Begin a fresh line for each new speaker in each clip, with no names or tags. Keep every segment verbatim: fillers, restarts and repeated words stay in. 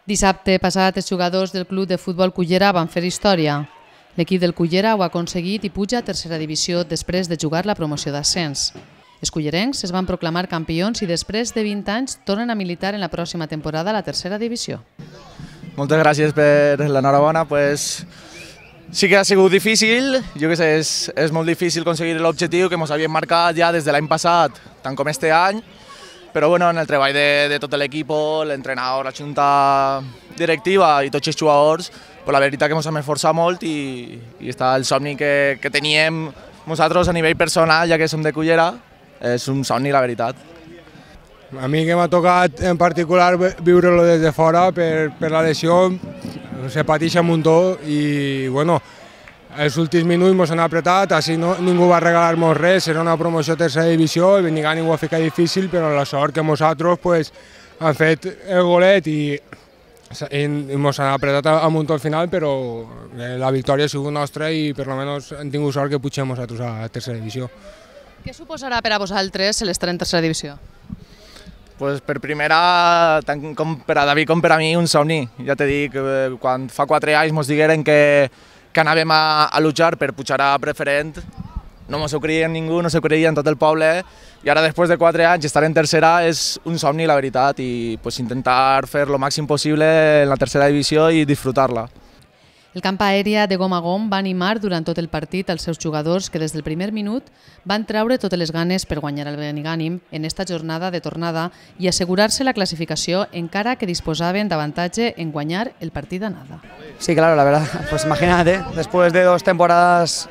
Dissabte passat, els jugadors del Club de Futbol Cullera van fer història. L'equip del Cullera ho ha aconseguit i puja a tercera divisió després de jugar la promoció d'ascens. Els cullerencs es van proclamar campions i després de vint anys tornen a militar en la pròxima temporada a la tercera divisió.
Moltes gràcies per l'enhorabona. Pues, sí que ha sigut difícil, jo que sé, és, és molt difícil aconseguir l'objectiu que ens havíem marcat ja des de l'any passat, tant com este any, però bueno, en el treball de, de tot l'equip, l'entrenador, la junta directiva i tots els jugadors, pues la veritat que ens hem esforçat molt i, i està el somni que, que teníem nosaltres a nivell personal, ja que som de Cullera, és un somni, la veritat.
A mi que m'ha tocat en particular viure-lo des de fora per, per la lesió, se pateix un muntó i bueno, els últims minuts ens han apretat, així no, ningú va regalar-nos res, era una promoció a tercera divisió, el Benigànim ho ha ficat difícil, però la sort que nosaltres pues, han fet el golet i ens han apretat a muntó al final, però la victòria ha sigut nostra i per almenys hem tingut sort que pugem nosaltres a tercera divisió.
Què suposarà per a vosaltres l'estar en tercera divisió?
Pues per primera, tant com per a David com per a mi, un somni. Ja t'he dit, quan fa quatre anys ens digueren que, que anàvem a, a luchar per pujar a preferent, no ens ho creia ningú, no s'ho creia en tot el poble, i ara després de quatre anys estar en tercera és un somni, la veritat, i pues, intentar fer el màxim possible en la tercera divisió i disfrutar-la.
El camp aèria de gom a gom va animar durant tot el partit als seus jugadors que des del primer minut van treure totes les ganes per guanyar el Benigànim en esta jornada de tornada i assegurar-se la clasificació encara que disposaven d'avantatge en guanyar el partit d'anada.
Sí, claro, la verdad, pues imagínate, después de dos temporadas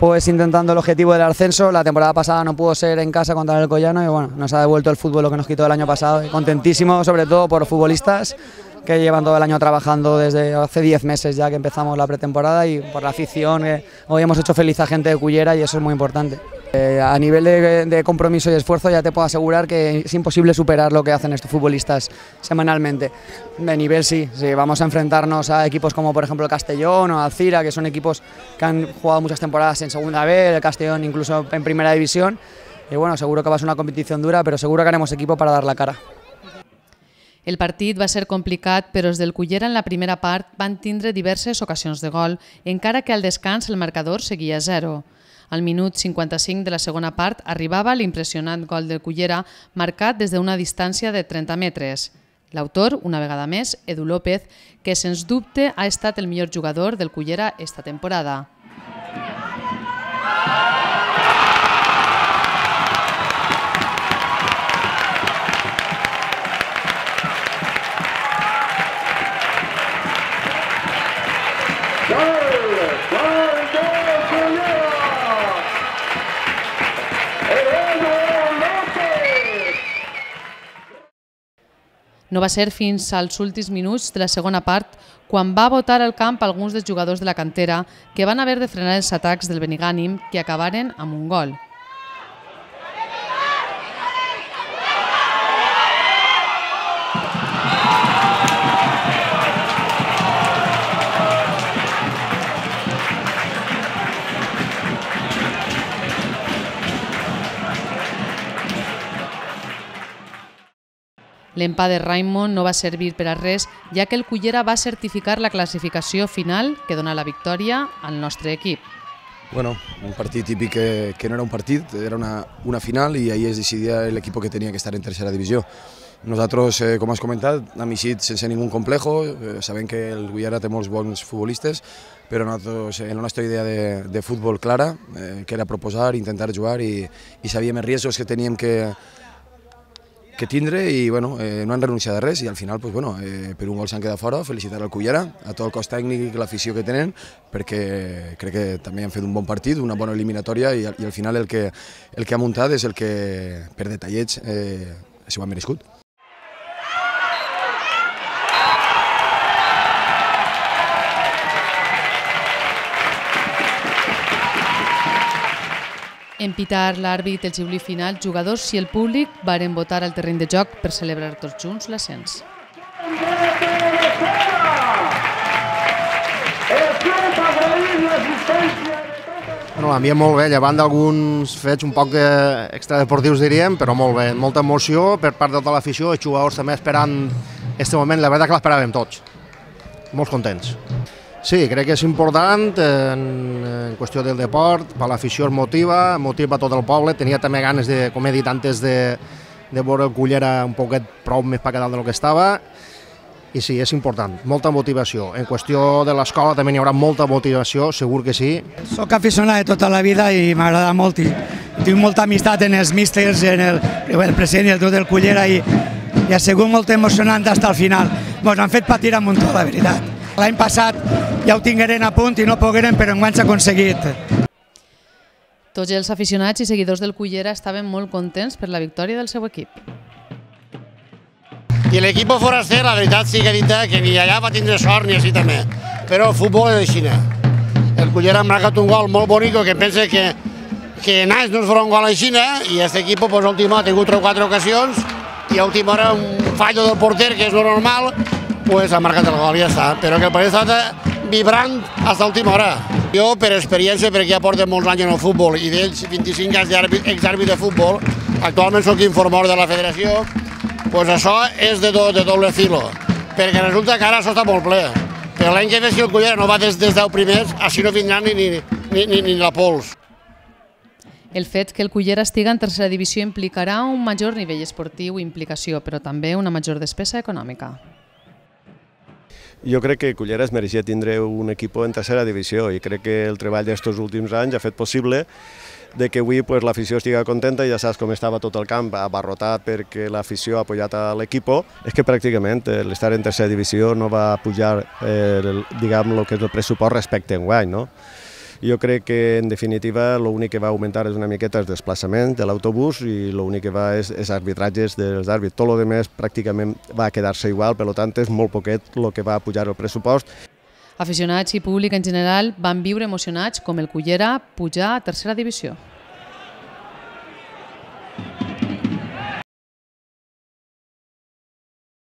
pues intentando el objetivo del ascenso, la temporada pasada no pudo ser en casa contra el Alcoyano y bueno, nos ha devuelto el fútbol lo que nos quitó el año pasado y contentísimo sobre todo por los futbolistas que llevan todo el año trabajando desde hace diez meses ya que empezamos la pretemporada y por la afición, que hoy hemos hecho feliz a gente de Cullera y eso es muy importante. Eh, a nivel de, de compromiso y esfuerzo ya te puedo asegurar que es imposible superar lo que hacen estos futbolistas semanalmente. De nivel sí, sí, vamos a enfrentarnos a equipos como por ejemplo el Castellón o Alcira, que son equipos que han jugado muchas temporadas en segunda B, el Castellón incluso en primera división y bueno, seguro que va a ser una competición dura, pero seguro que haremos equipo para dar la cara.
El partit va ser complicat, però els del Cullera en la primera part van tindre diverses ocasions de gol, encara que al descans el marcador seguia a zero. Al minut cinquanta-cinc de la segona part arribava l'impressionant gol del Cullera marcat des d'una distància de trenta metres. L'autor, una vegada més, Edu López, que sens dubte ha estat el millor jugador del Cullera esta temporada. No va ser fins als últims minuts de la segona part quan va botar al camp alguns dels jugadors de la cantera que van haver de frenar els atacs del Benigànim que acabaren amb un gol. L'empat de Raimon no va servir per a res, ja que el Cullera va certificar la classificació final que dona la victòria al nostre equip.
Bueno, un partit típic que, que no era un partit, era una, una final i ahí es decidia l'equip que tenia que estar en tercera divisió. Nosaltres, eh, com has comentat, hem eixit sense ningú complejo, eh, sabem que el Cullera té molts bons futbolistes, però nosaltres, en la nostra idea de, de futbol clara, eh, que era proposar, intentar jugar i, i sabíem els riscos que teníem que que tindre i bueno, eh, no han renunciat a res i al final pues, bueno, eh, per un gol s'han quedat fora, felicitar al Cullera, a tot el cos tècnic i l'afició que tenen perquè crec que també han fet un bon partit, una bona eliminatòria i, i al final el que, el que ha muntat és el que per detallets eh, s'ho ha merescut.
En pitar l'àrbit el xiulí final, jugadors i el públic varen votar al terreny de joc per celebrar tots junts l'ascens.
Bueno, l'ambient molt bé, llevant d'alguns fets un poc extradeportius diríem, però molt bé, molta emoció per part de tota l'afició, els jugadors també esperant Este moment, la veritat que l'esperàvem tots. Molt contents. Sí, crec que és important en, en qüestió del deport, per l'afició es motiva, motiva tot el poble, tenia també ganes de, com he dit antes, de, de veure el Cullera un poquet prou més per dalt del que estava, i sí, és important, molta motivació. En qüestió de l'escola també hi haurà molta motivació, segur que sí.
Soc aficionat de tota la vida i m'agrada molt i tinc molta amistat en els místers, en el, el president i el tot del Cullera i, i ha sigut molt emocionant fins al final. Ens han fet patir a muntó, la veritat. L'any passat ja ho tingueren a punt i no pogueren, però enguany s'ha aconseguit.
Tots els aficionats i seguidors del Cullera estaven molt contents per la victòria del seu equip.
I l'equip foraster, la veritat sí que ha dit que ni allà va tindre sort ni així també, però el futbol és així. El Cullera ha marcat un gol molt bonic que pensa que, que Nas no es farà un gol així i aquest equip pues, última, ha tingut tres o quatre ocasions i a última hora un fallo del porter que és lo normal, pues ha marcat el gol i ja està, però que el partit ha estat vibrant fins a l'última hora. Jo, per experiència, perquè ja porto molts anys en el futbol i d'ells vint-i-cinc anys d'exàrbit de futbol, actualment soc informador de la federació, doncs això és de, do, de doble filo, perquè resulta que ara això està molt ple. Però l'any que ve, si el Cullera no va des dels deu primers, així no vindrà ni, ni, ni, ni, ni la pols.
El fet que el Cullera estiga en tercera divisió implicarà un major nivell esportiu i implicació, però també una major despesa econòmica.
Jo crec que Cullera es mereixia tindre un equip en tercera divisió i crec que el treball d'aquests últims anys ha fet possible de que avui pues, l'afició estigui contenta i ja saps com estava tot el camp abarrotat perquè l'afició ha apoyat a l'equip. És que pràcticament l'estar en tercera divisió no va pujar eh, el, diguem, el que és el pressupost respecte a enguany, no? Jo crec que, en definitiva, l'únic que va augmentar és una miqueta el desplaçament de l'autobús i l'únic que va és, és arbitratges dels àrbits. Tot el que pràcticament va quedar-se igual, per tant és molt poquet el que va pujar el pressupost.
Aficionats i públic en general van viure emocionats com el Cullera pujar a tercera divisió.